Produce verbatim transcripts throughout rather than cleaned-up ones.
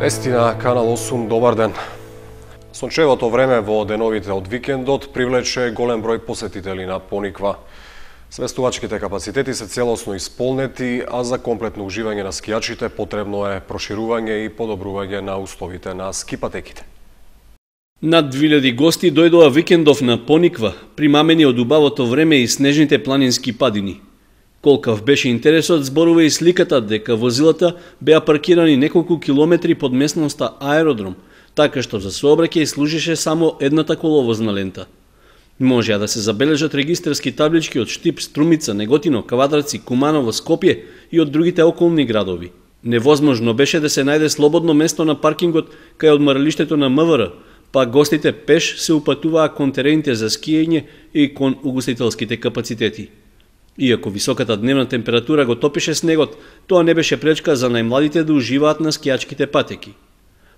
Вести на Канал осум, добар ден. Сончевото време во деновите од викендот привлече голем број посетители на Пониква. Свестувачките капацитети се целосно исполнети, а за комплетно уживање на скијачите потребно е проширување и подобрување на условите на скипатеките. Над две илјади гости дојдоа викендов на Пониква, примамени од убавото време и снежните планински падини. Колкав беше интересот, зборува и сликата дека возилата беа паркирани неколку километри под местноста Аеродром, така што за сообраќај служеше само едната коловозна лента. Можеа да се забележат регистарски таблички од Штип, Струмица, Неготино, Кавадарци, Куманово, Скопје и од другите околни градови. Невозможно беше да се најде слободно место на паркингот кај одморалиштето на М В Р, па гостите пеш се упатуваа кон терените за скиење и кон угостителските капацитети. Иако високата дневна температура го топише снегот, тоа не беше пречка за најмладите да уживаат на скијачките патеки.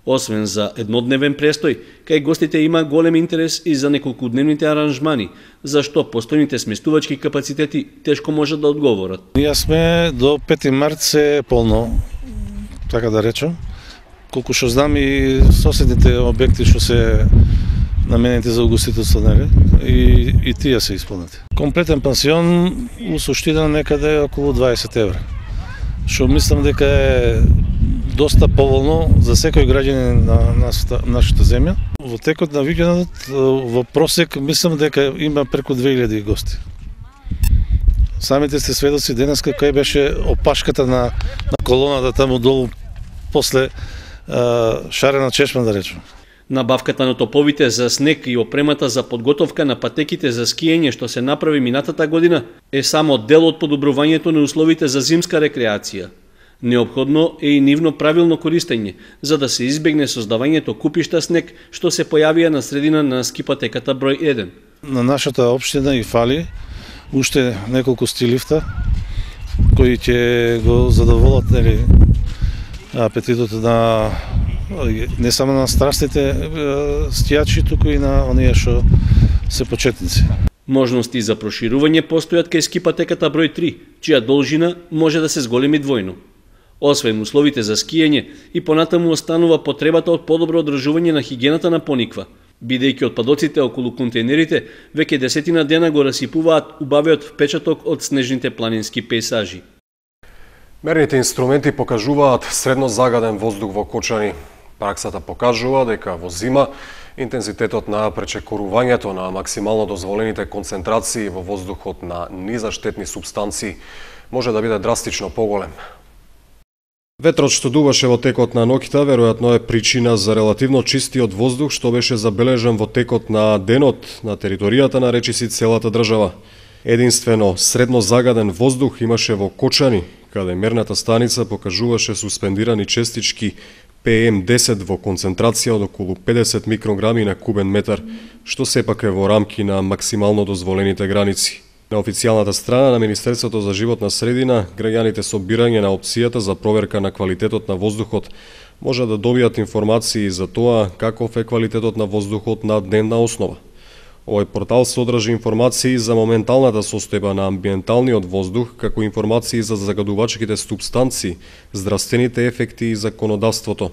Освен за еднодневен престој, кај гостите има голем интерес и за неколкудневните аранжмани, за што постојните сместувачки капацитети тешко можат да одговорат. Ние сме до пети март се полно, така да речем. Колку што знам и соседните објекти што се наменети за угостителство, нели? И, и тие се исполнети. Комплетен пансион у суштина некаде околу дваесет евра. Што мислам дека е доста поволно за секој граѓанин на нашата, нашата земја. Во текот на викендот во просек мислам дека има преку две илјади гости. Самите сте сведоци денеска кај беше опашката на, на колоната таму долу после а, шарена чешма, да речем. Набавката на топовите за снег и опремата за подготовка на патеките за скиење што се направи минатата година е само дел од подобрувањето на условите за зимска рекреација. Неопходно е и нивно правилно користење, за да се избегне создавањето купишта снег што се појавија на средина на скипатеката број еден. На нашата општина и фали уште неколку стилифта кои ќе го задоволат, нели, апетитот на не само на страстите скијачи, туку и на оние што се почетници. Можности за проширување постојат кај скипатеката број три, чија должина може да се зголеми двојно. Освен условите за скиење, и понатаму останува потребата од подобро одржување на хигиената на Пониква, бидејќи отпадоците околу контейнерите веќе десетина дена го расипуваат убавиот впечаток од снежните планински пејсажи. Мерните инструменти покажуваат средно загаден воздух во Кочани. Праксата покажува дека во зима интензитетот на пречекорувањето на максимално дозволените концентрации во воздухот на низаштетни супстанции може да биде драстично поголем. Ветрот што дуваше во текот на ноќта веројатно е причина за релативно чистиот воздух што беше забележен во текот на денот на територијата на речиси целата држава. Единствено средно загаден воздух имаше во Кочани, каде мерната станица покажуваше суспендирани честички Пе Ем десет во концентрација од околу педесет микрограми на кубен метар, што сепак е во рамки на максимално дозволените граници. На официјалната страна на Министерството за животна средина, граѓаните со бирање на опцијата за проверка на квалитетот на воздухот може да добијат информации за тоа каков е квалитетот на воздухот на дневна основа. Овој портал содржи информации за моменталната состојба на амбиенталниот воздух, како информации за загадувачките супстанции, здравствените ефекти и законодавството.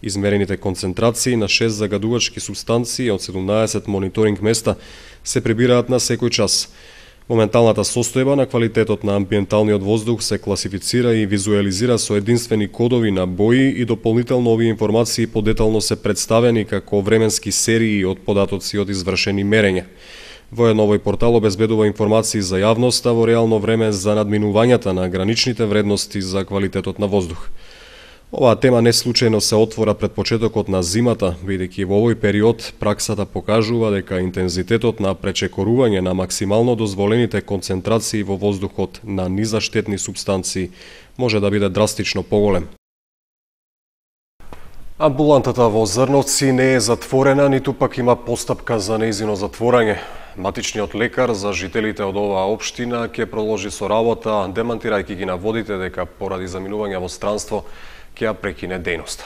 Измерените концентрации на шест загадувачки супстанции од седумнаесет мониторинг места се прибираат на секој час. Моменталната состојба на квалитетот на амбиенталниот воздух се класифицира и визуализира со единствени кодови на бои и дополнително овие информации подетално се представени како временски серии од податоци од извршени мерења. Воедно овој портал обезбедува информации за јавноста во реално време за надминувањата на граничните вредности за квалитетот на воздух. Оваа тема не случајно се отвора пред почетокот на зимата, бидејќи во овој период праксата покажува дека интензитетот на пречекорување на максимално дозволените концентрации во воздухот на низаштетни супстанции може да биде драстично поголем. Амбулантата во Зрновци не е затворена, ниту пак има постапка за нејзино затворање. Матичниот лекар за жителите од оваа општина ќе продолжи со работа, демантирајќи ги наводите дека поради заминување во странство ќе ја прекине дејноста.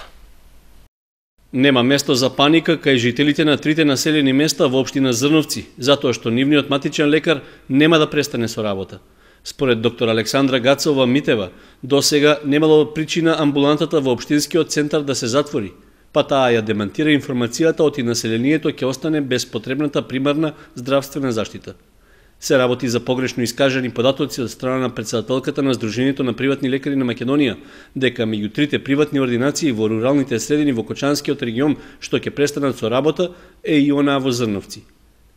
Нема место за паника кај жителите на трите населени места во општина Зрновци, затоа што нивниот матичен лекар нема да престане со работа. Според доктор Александра Гацова Митева, досега немало причина амбулантата во општинскиот центар да се затвори, па таа ја демантира информацијата оти населението ќе остане без потребната примарна здравствена заштита. Се работи за погрешно искажани податоци од страна на претседателката на Сдруженијето на приватни лекари на Македонија, дека меѓу трите приватни ординации во руралните средини во Кочанскиот регион што ќе престанат со работа е и она во Зрновци.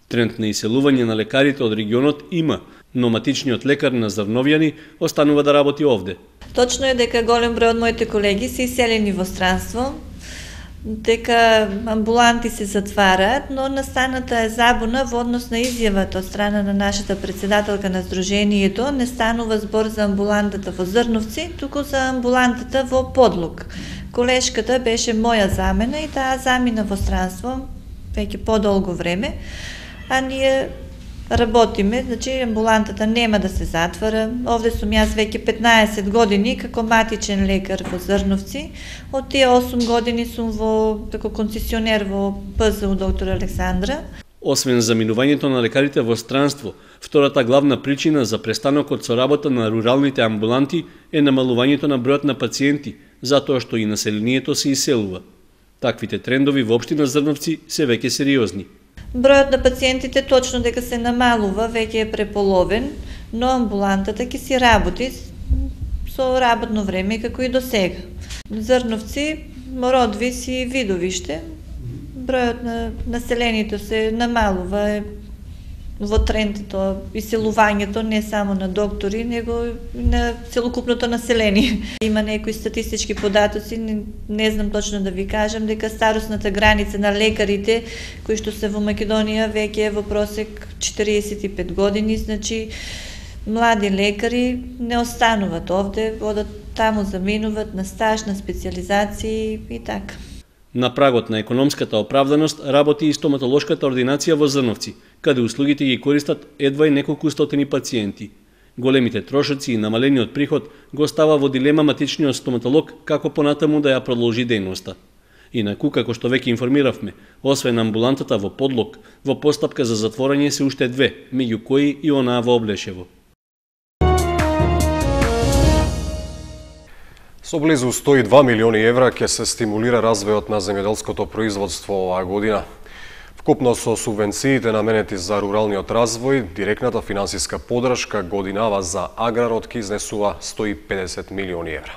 Тренд на иселување на лекарите од регионот има, но матичниот лекар на Зрновјани останува да работи овде. Точно е дека голем број од моите колеги се иселени во странство, дека амбуланти се затвараат, но настаната е забуна во однос на изјавата од страна на нашата претседателка на Сдруженијето. Не станува збор за амбулантата во Зрновци, туку за амбулантата во Подлук. Колешката беше моја замена и таа замина во странство веќе подолго време, а ние работиме, значи амбулантата нема да се затвара. Овде сум јас веќе петнаесет години како матичен лекар во Зрновци. Од тие осум години сум во како концесионер во П З У доктор Александра. Освен заминувањето на лекарите во странство, втората главна причина за престанокот со работа на руралните амбуланти е намалувањето на бројот на пациенти, затоа што и населението се иселува. Таквите трендови во општина Зрновци се веќе сериозни. Бројот на пациентите точно дека се намалува, веќе е преполовен, но амбулантата ќе си работи со работно време како и до сега. Зрновци, Родвис и Видовиште, бројот на населението се намалува во трендото, иселувањето не само на доктори, него и на целокупното население. Има некои статистички податоци, не, не знам точно да ви кажам, дека старосната граница на лекарите кои што се во Македонија веќе е во просек четириесет и пет години, значи млади лекари не остануваат овде, одат таму, заминуваат на стаж, на специализации и така. На прагот на економската оправданост работи и стоматолошката ординација во Зрновци, каде услугите ги користат едва и неколку стотини пациенти. Големите трошоци и намалениот приход го става во дилема матичниот стоматолог како понатаму да ја продолжи дејноста. Инаку, како што веќе информиравме, освен амбулантата во Подлог, во постапка за затворање се уште две, меѓу кои и онаа во Облешево. Со близу сто и два милиони евра ќе се стимулира развојот на земјоделското производство оваа година. Вкупно со субвенциите наменети за руралниот развој, директната финансиска поддршка годинава за аграрот ќе изнесува сто и педесет милиони евра.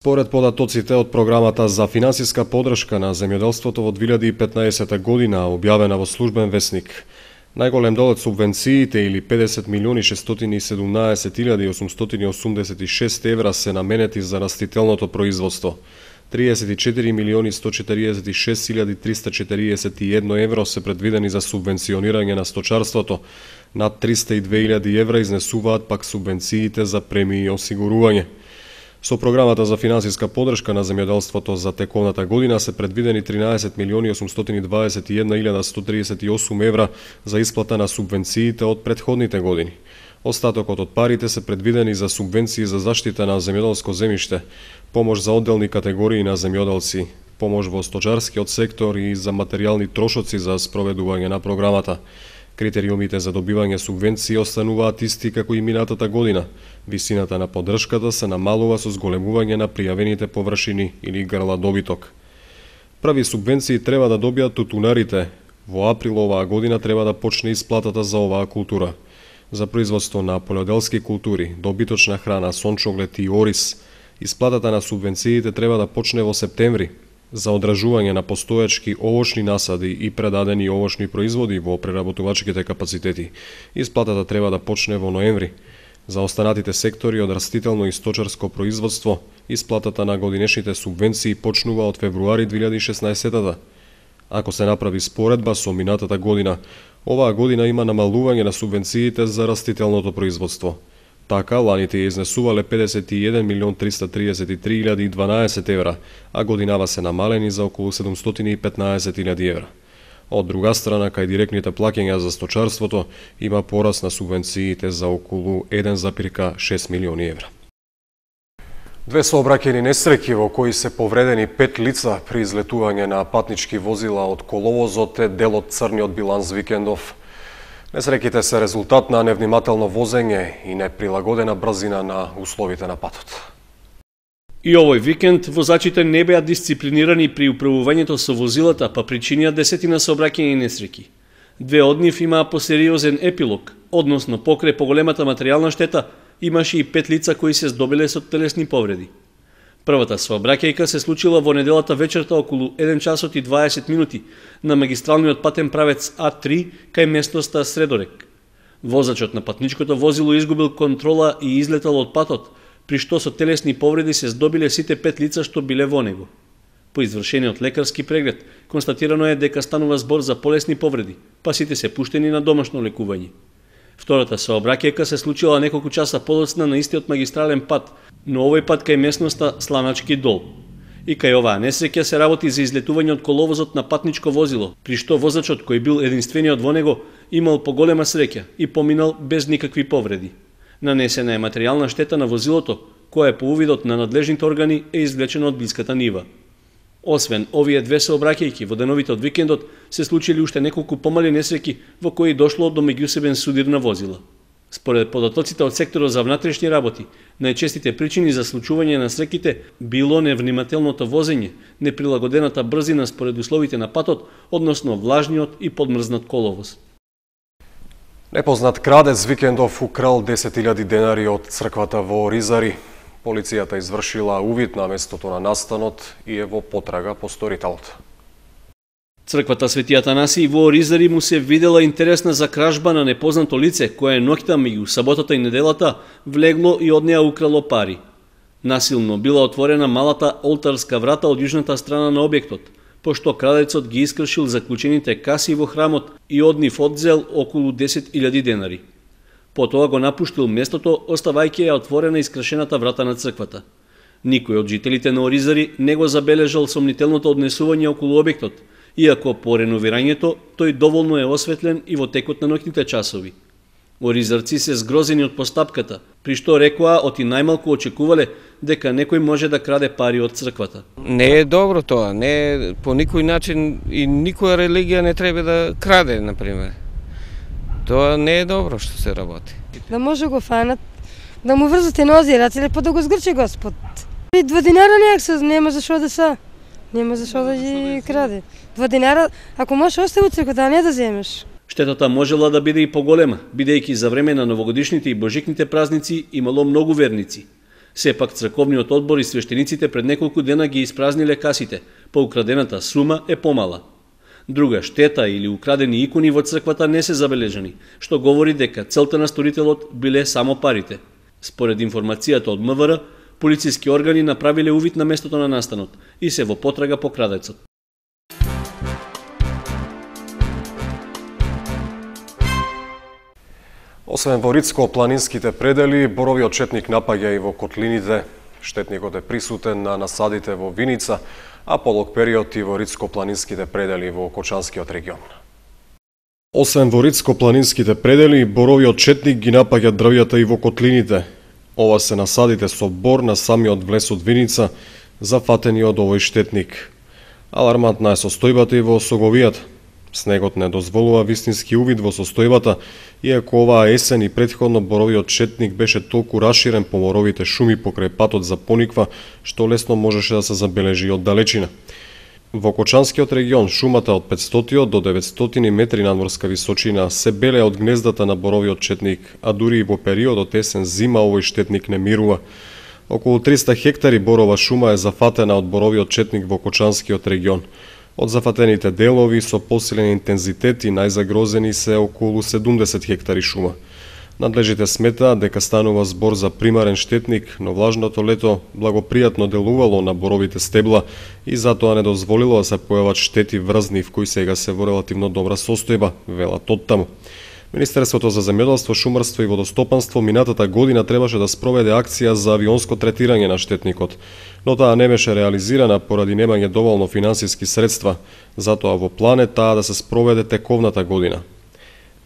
Според податоците од програмата за финансиска поддршка на земјоделството во две илјади и петнаесета година, објавена во Службен весник, најголем дел од субвенциите или педесет милиони шестстотини и седумнаесет илјади осумстотини осумдесет и шест евра се наменети за растителното производство. триесет и четири милиони сто четириесет и шест илјади триста четириесет и едно евро се предвидени за субвенционирање на сточарството. Над триста и две илјади евра изнесуваат пак субвенциите за премии и осигурување. Со програмата за финансиска поддршка на земјоделството за теконата година се предвидени тринаесет милиони осумстотини дваесет и една илјада сто тридесет и осум евра за исплата на субвенциите од претходните години. Остатокот од парите се предвидени за субвенции за заштита на земјоделско земјиште, помош за одделни категории на земјоделци, помош во сточарскиот сектор и за материјални трошоци за спроведување на програмата. Критериумите за добивање субвенции остануваат исти како и минатата година. Висината на поддршката се намалува со зголемување на пријавените површини или грла добиток. Прави субвенции треба да добијат тутунарите. Во април оваа година треба да почне исплатата за оваа култура. За производство на полјоделски култури, добиточна храна, сончоглед и ориз, исплатата на субвенциите треба да почне во септември. За одражување на постоечки овошни насади и предадени овошни производи во преработувачките капацитети, исплатата треба да почне во ноември. За останатите сектори од растително и сточарско производство, исплатата на годинешните субвенции почнува од февруари две илјади и шеснаесета. Ако се направи споредба со минатата година, оваа година има намалување на субвенциите за растителното производство. Така, ланите ја изнесувале педесет и еден милион триста тридесет и три илјади и дванаесет евра, а годинава се намалени за околу седумстотини и петнаесет илјади евра. Од друга страна, кај директните плаќања за сточарството има пораст на субвенциите за околу еден запирка шест милиони евра. Две сообраќајни несреќи во кои се повредени пет лица при излетување на патнички возила од коловозот е дел од црниот биланс викендов. Несреќите се резултат на невнимателно возење и неприлагодена брзина на условите на патот. И овој викенд возачите не беа дисциплинирани при управувањето со возилата, па причинија десетина сообраќајни несреќи. Две од нив имаа посериозен епилог, односно покрај поголемата материјална штета, имаше и пет лица кои се здобиле со телесни повреди. Првата сообраќајка се случила во неделата вечерта околу еден часот и дваесет минути на магистралниот патен правец А три кај местноста Средорек. Возачот на патничкото возило изгубил контрола и излетал од патот, при што со телесни повреди се здобиле сите пет лица што биле во него. По извршениот лекарски преглед, констатирано е дека станува збор за полесни повреди, па сите се пуштени на домашно лекување. Втората сообраќајка се случила неколку часа подоцна на истиот магистрален пат, но овој пат кај местноста Сланачки дол. И кај оваа несреќа се работи за излетување од коловозот на патничко возило, при што возачот кој бил единствениот во него имал поголема среќа и поминал без никакви повреди. Нанесена е материјална штета на возилото, која по увидот на надлежните органи е извлечена од блиската нива. Освен овие две сообраќајки, во деновите од викендот се случили уште неколку помали несреќи во кои дошло до меѓусебен судир на возила. Според податоците од секторот за внатрешни работи, најчестите причини за случување на среќите било невнимателното возење, неприлагодената брзина според условите на патот, односно влажниот и подмрзнат коловоз. Непознат крадец викендов украл десет илјади денари од црквата во Оризари. Полицијата извршила увид на местото на настанот и е во потрага по сторителот. Црквата Свети Атанасиј во Оризари му се видела интересна за кражба на непознато лице, кое ноќта меѓу саботата и неделата влегло и од неа украло пари. Насилно била отворена малата олтарска врата од јужната страна на објектот, пошто крадецот ги искршил заклучените каси во храмот и од нив одзел околу десет илјади денари. Потоа го напуштил местото, оставајќи ја отворена искршената врата на црквата. Никој од жителите на Оризари не го забележал сомнителното однесување околу објектот, иако по реновирањето тој доволно е осветлен и во текот на ноќните часови. Оризарци се згрозени од постапката, при што рекоа оти најмалку очекувале дека некој може да краде пари од црквата. Не е добро тоа, не е по никој начин и никоја религија не треба да краде, например. Тоа не е добро што се работи. Да може го фанат, да му врзате нози и раце, лепо да го сгрче Господ. И два динара некак нема зашо да са, нема зашо да ги краде. Два динара, ако можеш остави од црквата, а не да земеш. Штетата можела да биде и поголема, бидејќи за време на новогодишните и божикните празници имало многу верници. Сепак црковниот одбор и свештениците пред неколку дена ги испразниле касите, па украдената сума е помала. Друга штета или украдени икони во црквата не се забележани, што говори дека целта на сторителот биле само парите. Според информацијата од МВР, полициски органи направиле увид на местото на настанот и се во потрага по крадецот. Освен во Рицко-планинските предели, боровиот четник напаѓа и во котлините. Штетникот е присутен на насадите во Виница, а подолг период и во Рицко-планинските предели во Кочанскиот регион. Освен во Рицко-планинските предели, боровиот четник ги напаѓа дрвјата и во котлините. Ова се насадите со бор на самиот влез од Виница, зафатени од овој штетник. Алармантна е состојбата и во Соговијата. Снегот не дозволува вистински увид во состојбата, иако оваа есен и претходно боровиот четник беше толку раширен по боровите шуми покрај патот за Пониква, што лесно можеше да се забележи од далечина. Во Кочанскиот регион шумата од петстотини до деветстотини метри надморска височина се беле од гнездата на боровиот четник, а дури и во периодот есен-зима овој штетник не мирува. Околу триста хектари борова шума е зафатена од боровиот четник во Кочанскиот регион. Од зафатените делови со посилен интензитет и најзагрозени се околу седумдесет хектари шума. Надлежите сметаат дека станува збор за примарен штетник, но влажното лето благопријатно делувало на боровите стебла и затоа не дозволило да се појават штети врз нив кои сега се во релативно добра состојба, велат оттаму. Министерството за земјоделство, шумарство и водостопанство минатата година требаше да спроведе акција за авионско третирање на штетникот, но таа не беше реализирана поради немање доволно финансиски средства, затоа во план е таа да се спроведе тековната година.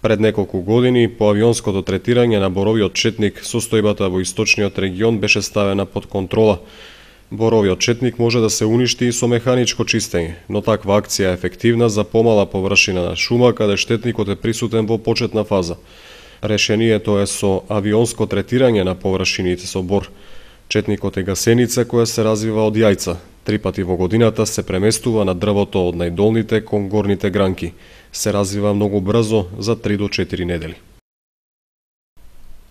Пред неколку години, по авионското третирање на боровиот четник, состојбата во источниот регион беше ставена под контрола. Боровиот четник може да се уништи и со механичко чистење, но таква акција е ефективна за помала површина на шума каде штетникот е присутен во почетна фаза. Решението е со авионско третирање на површините со бор. Четникот е гасеница која се развива од јајца. Три пати во годината се преместува на дрвото од најдолните кон горните гранки. Се развива многу брзо, за три до четири недели.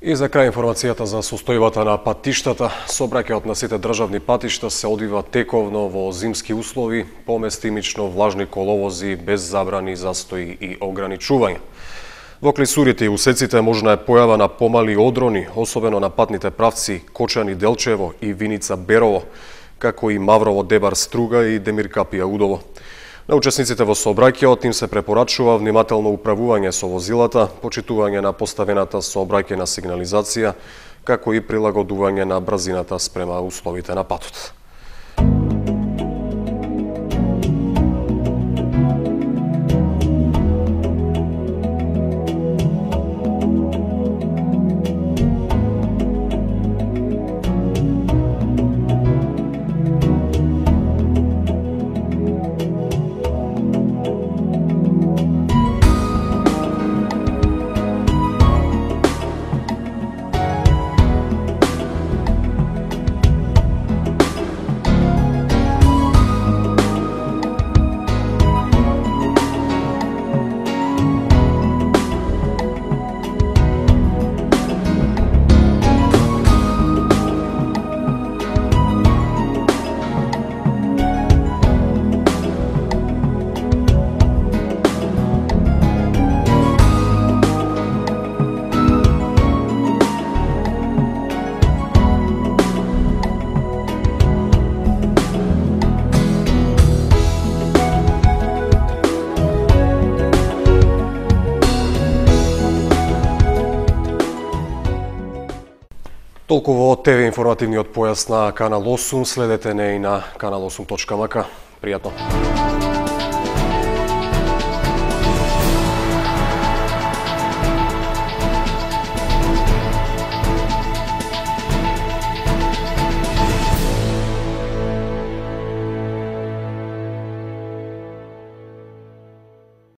И за крај информацијата за состојбата на патиштата. Сообраќајот на сите државни патишта се одвива тековно во зимски услови, поместимично влажни коловози без забрани, застои и ограничувања. Во клисурите и усеците можна е појава на помали одрони, особено на патните правци Кочани-Делчево и Виница-Берово, како и Маврово-Дебар-Струга и Демир-Капија-Удово. На учесниците во сообраќајот им се препорачува внимателно управување со возилата, почитување на поставената сообраќајна сигнализација, како и прилагодување на брзината спрема условите на патот. Толку во ТВ информативниот појас на Канал осум, следете не и на канал осум точка м к. Пријатно!